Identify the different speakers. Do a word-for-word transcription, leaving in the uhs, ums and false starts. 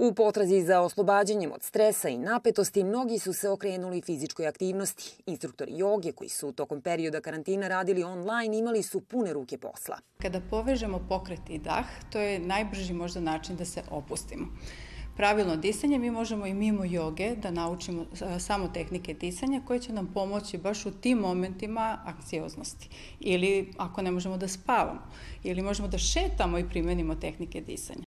Speaker 1: U potrazi za oslobađanjem od stresa i napetosti, mnogi su se okrenuli fizičkoj aktivnosti. Instruktori joge koji su tokom perioda karantina radili online imali su pune ruke posla.
Speaker 2: Kada povežemo pokret i dah, to je najbrži možda način da se opustimo. Pravilno disanje mi možemo i mimo joge da naučimo samo tehnike disanja koje će nam pomoći baš u tim momentima anksioznosti. Ili ako ne možemo da spavamo, ili možemo da šetamo i primenimo tehnike disanja.